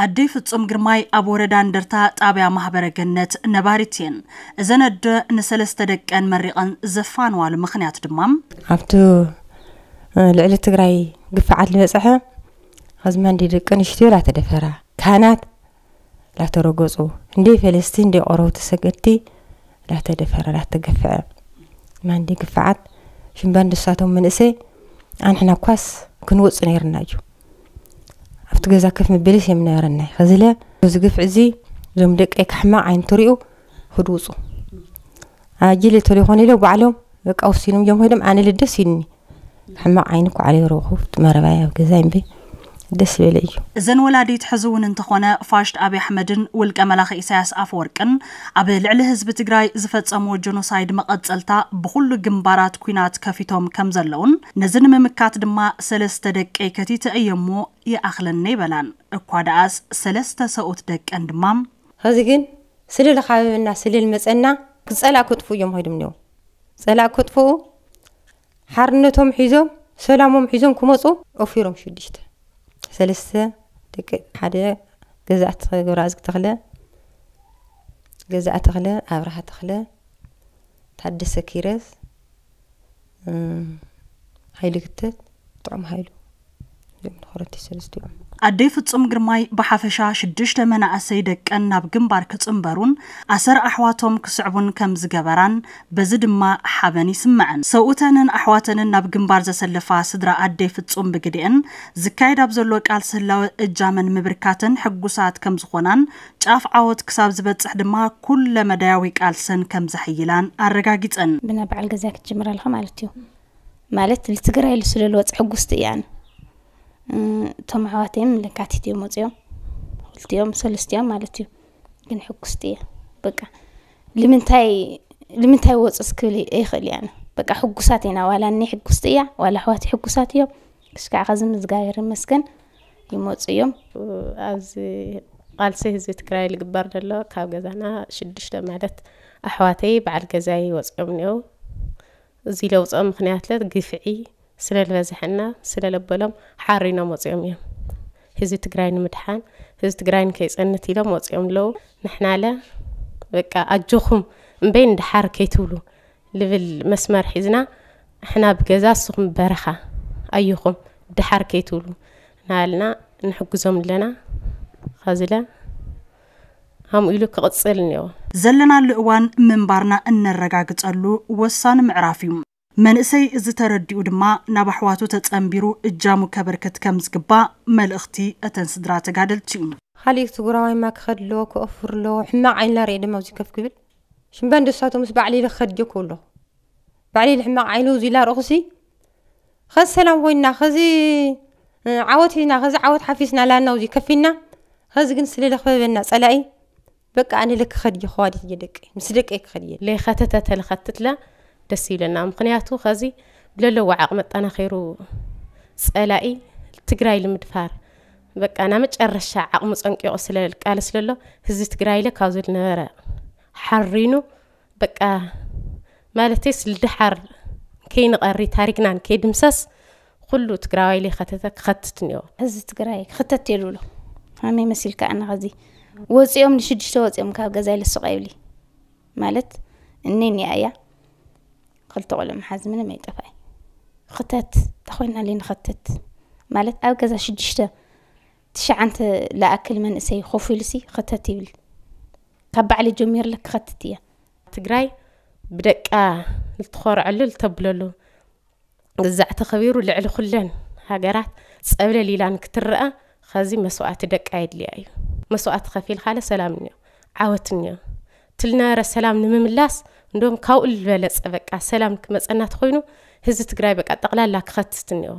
ኣደይ ፍጹም ግርማይ ኣብ ወረዳ እንደርታ ጣብያ ማህበረ ገነት ነባሪት እየን። እዘን ኣደ ንሰለስተ ደቀን መሪቐን ዘፋንዋሉ ምኽንያት ድማ ኣብቲ ልዕሊ ትግራይ ግፍዓት ዝበፅሐ ኸዚ ማንዴ ደቂ ኣንስትዮ ላተደፈራ፣ ካህናት ላተረገፁ፣ እንደ ፈለስቲ እንደ ቆረውቲ ሰገድቲ ላተደፈረ ላተገፍዐ ማንዴ ግፍዓት ሽምባን ድሳቶም መንእሰይ ኣንሕና ኳስ ክንወፁ ነይርና እዩ። ኣብቲ ገዛ ከፍ ምብልስ እዮም ነበረና። ኸዚለ እዚ ግፍዒ እዚ እዞም ደቀይ ካሕማቕ ዓይኒ ትሪኡ ክድውፁ ኣጅል ተለይኮነ ኢለ ባዕሎም በቃ ወሲኖም እዮም ሄዶም። ኣነ ልደስ ኢልኒ ሕማቕ ዓይኒ እኮ ዓለይ ረኹ መረባይ ኣብ ገዛ እምበ ደስ ዝበለ እዩ። እዘን ወላዲት ሕዚ እውን እንተኾነ ፋሽት ኣብይ ኣሕመድን ውልቀ መላኺ ኢሳያስ ኣፈወርቅን ኣብ ልዕሊ ህዝቢ ትግራይ ዝፈጸምዎ ጀኖሳይድ መቐጸልታ ብኹሉ ግንባራት ኲናት ከፊቶም ከም ዘለውን ነዚ ንምምካት ድማ ሰለስተ ደቀይ ከቲተ እየሞ ይኣኽለኒ ይበላን። እኳ ደኣስ ሰለስተ ሰብኡት ደቀን ድማ ኸዚ ግን ስለ ለኻበበና ስለ ልመጸና ክጸላእ ከጥፉ እዮም ኸይዶም እኒኦ። ጸላእ ከጥፍኡ ሓርነቶም ሒዞም ሰላሞም ሒዞም ክመፁ ኦፊሮም ሽዱሽተ ሰለስተ ደቂ ሓደ ገዛእቲ ገብረኣዝጊ ተኽለ፣ ገዛእ ተኽለ፣ ኣብርሃ ተኽለ፣ ታደሰ ኪረስ፣ እም፣ ሃይለ ክተት፣ ጥዑም ሃይሉ እዚኦም ንኸረቲ ሰለስቲኦም። ኣደይ ፍጹም ግርማይ ብሓፈሻ ሽዱሽተ መናእሰይ ደቀን ናብ ግንባር ክጽንበሩን ኣሰር ኣሕዋቶም ክስዕቡን ከም ዝገበራን በዚ ድማ ሓበን ይስምዐን። ሰብኡተንን ኣሕዋተንን ናብ ግንባር ዘሰለፋ ስድራ ኣደይ ፍጹም ብግዲአን ዝካየድ ኣብ ዘሎ ቃልሲ ህላወ እጃመን ምብርካተን ሕጉሳት ከም ዝኾናን ጫፍ ዓወት ክሳብ ዝበጽሕ ድማ ኩለ መዳያዊ ቃልሰን ከም ዘሕይላን ኣረጋጊጸን። ብና በዓል ገዛ ክትጅምር ኣለኻ ማለት እዩ። ማለት ልትግራይ ስለ ልወጽ ሕጉስቲ እያ ኣነ። እም፣ እቶም ኣሕዋተይም ለካቲት እዮም ወጺኦም። ክልቲኦም ሰለስቲኦም ማለት እዩ። ግን ሕጉስቲ እያ። በቃ ልምንታይ ልምንታይ ወጽስ ክብል ይኽእል እያ ኣነ። በቃ ሕጉሳት ኢና። ዋላ እኔ ሕጉስቲ እያ፣ ዋላ ኣሕዋተይ ሕጉሳት እዮም። ክስካዕ ኸዚ ምዝጋብሔር ይመስገን ይመጹ እዮም። ኣብዚ ቃልሲ ህዝቢ ትግራይ ልግበር ዘሎ ካብ ገዛና ሽዱሽተ ማለት ኣሕዋተይ በዓል ገዛይ ወጺኦም እኒኦ። እዚ ለውፅኦም ምኽንያት ለ ግፍዒ ስለ ዝበዝሐና ስለ ለበሎም ሓሪኖም ወፂኦም እዮም። ህዝቢ ትግራይ ንምድሓን ህዝቢ ትግራይ ንከይፀንት ኢሎም ወፂኦም ኣለዉ። ንሕና ለ በቃ ኣጆኹም እምበይ ንድሓር ከይትብሉ ልብል መስመር ሒዝና ንሕና ብገዛ ንስኹም በረኻ ኣዮኹም ድሓር ከይትብሉ እናበልና ንሕግዞም ኣለና። ኸዚ ለ ከምኡ ኢሉ ክቕፅል እኒኦ። ዘለናሉ እዋን ምንባርና እነረጋግፀሉ ወሳኒ ምዕራፍ እዩ። መንእሰይ እዚ ተረዲኡ ድማ ናብ ኣሕዋቱ ተፀንቢሩ እጃሙ ከበርክት ከም ዝግባእ መልእኽቲ እተን ስድራ ተጋደልቲ እዩ። ካሊእ ትግራዋይማ ክኸድ ኣለዎ፣ ክኦፍር ኣለዎ። ሕማቕ ዓይንላ ርኤ ድማ ኣብዚ ከፍ ክብል ሽምበን ደሳቶ ምስ ባዕሊ ኢለ ክኸድ ጀኩ ኣለኹ። ባዕሊ ኢለ ሕማቕ ዓይኑ እዚ ኢላ ርኹሲ ኸዚ ሰላም ኮይንና፣ ኸዚ ዓወት ሒዝና፣ ኸዚ ዓወት ሓፊስና ላና እዚ ከፊና። ኸዚ ግን ስለ ለኽበበና ጸላኢ በቃ ኣነ ለክኸድ እየ፣ ኸዋዲት እየ ደቀይ፣ ምስ ደቀይ ክኸድ እየ። ለይኸተተ ተለኸትትለ ደስ ይብለና። ምኽንያቱ ኸዚ ብለለዎ ዓቕሚ ኣጠናኺሩ ጸላኢ ትግራይ ልምድፋር በቃ ናብ መጨረሻ ዓቕሙ ጸንቂቑ ስለ ልቃለስ ለሎ ህዝቢ ትግራይ ለ ካብዚ ልነበረ ሓሪኑ በቃ ማለተይስ ልድሓር ከይንቐሪ ታሪክናን ከይድምሰስ ኩሉ ትግራዋይ ለይኸተተ ክኸትት እኒኦ። ህዝቢ ትግራይ ክኽተት እየ ልብሎ። ከመይ መሲልካ ኣነ ኸዚ ወፂኦም ንሽዱሽተ ወፂኦም ካብ ገዛይ ልስቕ ኣይብሊ ማለት እነይ እኒኣ እያ። ክልተ ቆልዑ መሓዝ ምንም ኣይጠፋይ። ክተት ተኾይና ለይ ንኸትት ማለት ኣብ ገዛ ሽዱሽተ ትሽዓንተ ለኣክል መንእሰይ ኮፍ ኢሉሲ ክተት ይብል። ካብ ባዕሊ ጀሚርለ ክኸትት እያ። ትግራይ ብደቃ ልትኾርዐሉ ልተብለሉ ግዛዕ ተኸቢሩ ልዕሊ ኩለን ሃገራት ጸብለል ኢላ ንክትረኣ ኸዚ መስዋእቲ ደቃ የድልያ እዩ። መስዋእቲ ከፊልካለ ሰላም እኒኦ፣ ዓወት እኒኦ። ትልነበረ ሰላም ንምምላስ እንደውም ካብኡ ዝበለጸ በቃ ሰላም ክመጸና ተኾይኑ ህዝቢ ትግራይ በቃ ጠቕላላ ክኸትት እኒኦ።